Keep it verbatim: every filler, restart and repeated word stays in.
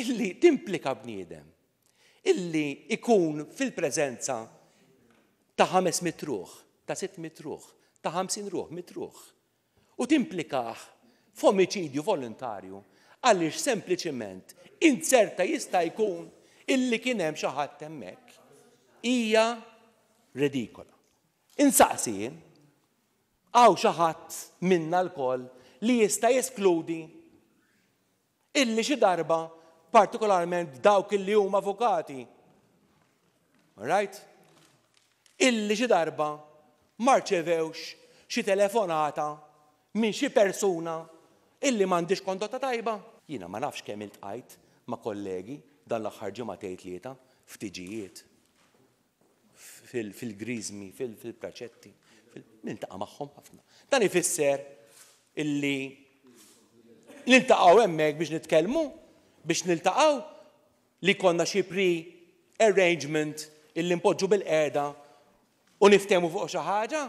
Illi timplika bniedem illi ikun fil-preżenza ta' ħames mitt ruħ, ta' sitt mitt ruħ, ta' ħamsin ruħ, mitt ruħ, u timplikah f'omiċidju volontarju għaliex sempliċement inzerta jista' jkun illi kien hemm xi ħadd hemmhekk, hija redikola. Insaqsi jien, hawn xi ħadd minna lkoll li jista' jeskludi illi xi darba, partikolarment dawk illi huma avukati, right? Illi xi darba ma rċevewx xi telefonata minn xi persuna illi m'għandix kondotta tajba? Jiena ma nafx kemm iltqajt ma' kollegi dan l-aħħar ġimgħatejn tlieta ftiġijiet, fil-griżmi, fil-praċetti, niltaqa' magħhom ħafna. Dan ifisser illi niltaqgħu hemmhekk biex nitkellmu, biex niltaqgħu li konna xi pre-arrangement illi npoġġu bil-qeda u niftehmu fuq xi ħaġa.